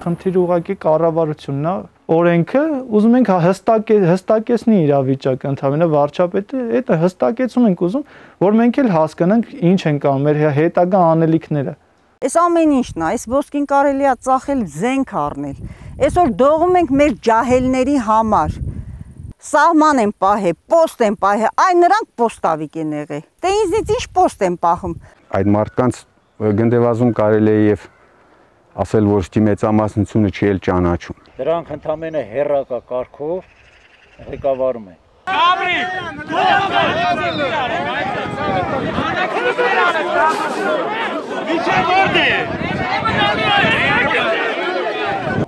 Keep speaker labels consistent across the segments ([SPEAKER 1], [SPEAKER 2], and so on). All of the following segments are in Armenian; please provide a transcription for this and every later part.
[SPEAKER 1] խնդիրը ուղղակի կառավարությունն է, օրենքը ուզում ենք հստակեցնի իրավիճակը, ընդհանրապես վարչապետը դա հստակեցում ենք ուզում, որ մենք էլ հասկանանք ինչ ենք անում, մեր հետագա անելիքները։
[SPEAKER 2] Այս ամեն ինչն է, այս ոսկին կարելի է ծախել զենք առնել։ Այսօր դողում ենք մեր ջահելների համար։ Սահման են պահել, պոստ են պահել, այ նրանք պոստավիկ են եղել։ Դե ինձնից ինչ պոստ են պահում։
[SPEAKER 3] Այդ մարդկանց գնդեվազում կարելի է եւ ասել, որ ստի մեծամասնությունը չի էլ ճանաչում։
[SPEAKER 4] Դրանք ընդամենը հերակա կարգով ղեկավարում են։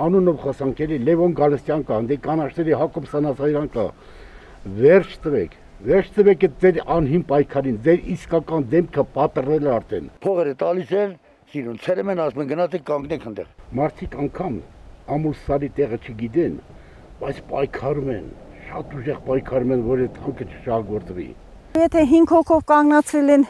[SPEAKER 5] Անունով խոսանքերի Լևոն Գալստյան կա, դե կանաչների Հակոբ Սանասարյան կա։ Վերջ տվեք այդ ձեր անհին պայքարին, ձեր իսկական դեմքը պատռել է արդեն։
[SPEAKER 6] Փողերը տալիս են, սիրուն ցերեմ են ասում են գնացեք կանգնեք այնտեղ։
[SPEAKER 5] Մարդիկ անգամ ամուլսարի տեղը չգիտեն, բայց պայքարում են, շատ ուժեղ պայքարում են, որ այդ հանքը չշահագործվի։
[SPEAKER 2] Եթե 5 հոգով կանգնացրել են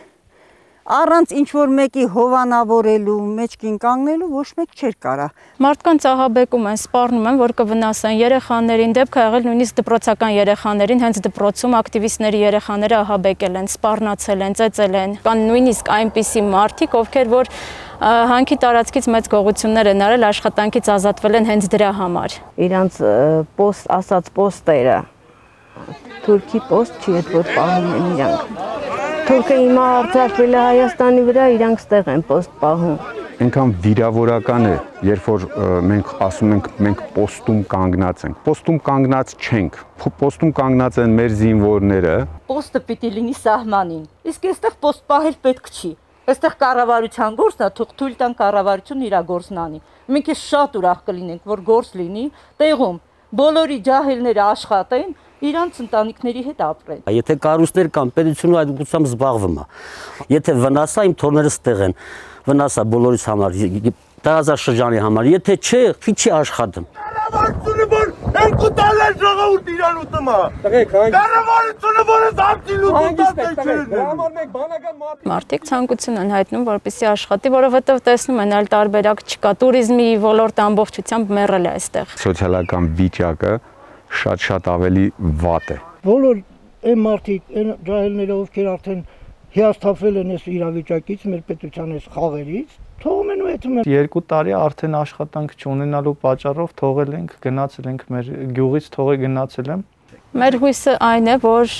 [SPEAKER 2] առանց ինչ-որ մեկի հովանավորելու, մեջքին կանգնելու, ոչ մեկ չէր կարա։
[SPEAKER 7] Մարդկանց ահաբեկում են, սպառնում են, որ կվնասեն երեխաներին, դեպք ա եղել նույնիսկ դպրոցական երեխաներին, հենց դպրոցում ակտիվիստների երեխաները ահաբեկել են, սպառնացել են, ծեծել են։ Կան նույնիսկ այնպիսի մարդիկ, ովքեր որ հանքի տարածքից մեծ գողություններ են արել, աշխատանքից ազատվել են հենց դրա համար։
[SPEAKER 8] Իրանց ասած պոստերը, թուրքի պոստ չի, այդ որ պահում են իրանք։ Թուրքը հիմա արձակվել է Հայաստանի վրա, իրանք ստեղ են պոստ պահում։
[SPEAKER 3] Այնքան վիրավորական է, երբ որ մենք ասում ենք մենք պոստում կանգնած ենք։ Պոստում կանգնած չենք։ Պոստում կանգնած են մեր զինվորները։
[SPEAKER 9] Պոստը պիտի լինի սահմանին։ Իսկ այստեղ պոստ պահել պետք չի։ Այստեղ կառավարության գործն է, թույլ տան կառավարությունը իր գործն անի։ Մենք շատ ուրախ կլինենք, որ գործ լինի տեղում, բոլորի ջահելները աշխատեն, իրանց ընտանիքների հետ ապրեն։
[SPEAKER 10] Եթե կառույցներ կան, պետությունը այդ ուղղությամբ զբաղվում է։ Եթե վնասա, իմ թորները ստեղ են, վնասա բոլորիս համար, տարածաշրջանի համար, եթե չէ, չի աշխատում։
[SPEAKER 6] Կառավարությունը որ երկու տալ է ժողովուրդ իրան ուտում է։ Կառավարությունը որ
[SPEAKER 7] Մարդիկ ցանկություն են հայտնում, որպեսզի աշխատի, որովհետև տեսնում են այլ տարբերակ չկա, туриզմի ոլորտը ամբողջությամբ մեռել է այստեղ։
[SPEAKER 3] Սոցիալական վիճակը շատ ավելի վատ է։
[SPEAKER 11] Բոլոր այն մարդիկ, այն ջահելները, ովքեր արդեն հիասթափվել են այս իրավիճակից, մեր պետության այս խաղերից, թողում են ու այդում են։
[SPEAKER 1] 2 տարի արդեն աշխատանք չունենալու պատճառով թողել ենք, գնացել ենք մեր գյուղից, գնացել եմ։
[SPEAKER 7] Մեր հույսը այն է, որ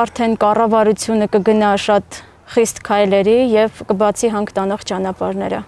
[SPEAKER 7] արդեն կառավարությունը կգնա շատ խիստ քայլերի եւ կբացի հանք տանող ճանապարհները։